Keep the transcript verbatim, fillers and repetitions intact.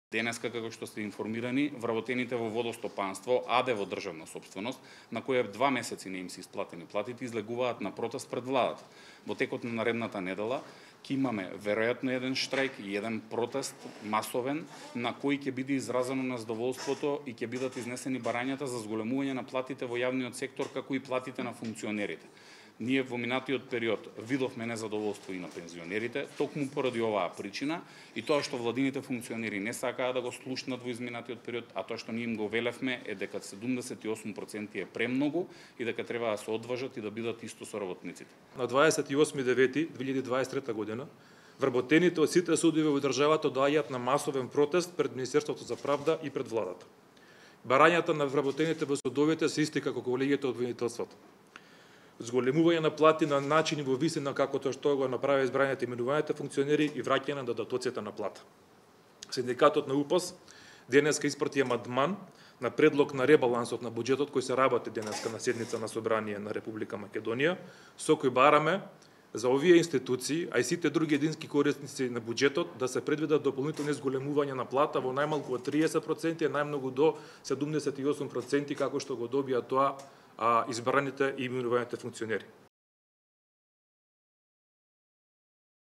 Денеска, како што сте информирани, вработените во водостопанство, АД во државна сопственост, на која два месеци не им се исплатени платите, излегуваат на протест пред владата. Во текот на наредната недела ќе имаме веројатно еден штрајк и еден протест масовен, на кој ќе биде изразено незадоволството и ќе бидат изнесени барањата за зголемување на платите во јавниот сектор, како и платите на функционерите. Ние во минатиот период видовме незадоволство и на пензионерите, токму поради оваа причина и тоа што владините функционери не сакаа да го слушнат во изминатиот период, а тоа што ние им го велевме е дека седумдесет и осум проценти е премногу и дека треба да се одважат и да бидат исто со работниците. На дваесет и осми девети две илјади дваесет и трета година вработените од сите судови во државата доаѓаат на масовен протест пред Министерството за правда и пред владата. Барањата на вработените во судовите се исти како колегите од обвинителството. Зголемување на плати на начини во висина како тоа што го направи избраните именуваните функционери и враќање на додатоците на плата. Синдикатот на УПС денеска испрати амандман на предлог на ребалансот на буџетот кој се работи денеска на седница на Собрание на Република Македонија, со кој бараме за овие институции, а и сите други едински корисници на буџетот да се предвидат дополнителни зголемување на плата во најмалку од триесет проценти, а најмногу до седумдесет и осум проценти како што го добија тоа а избраните и именуваните функционери.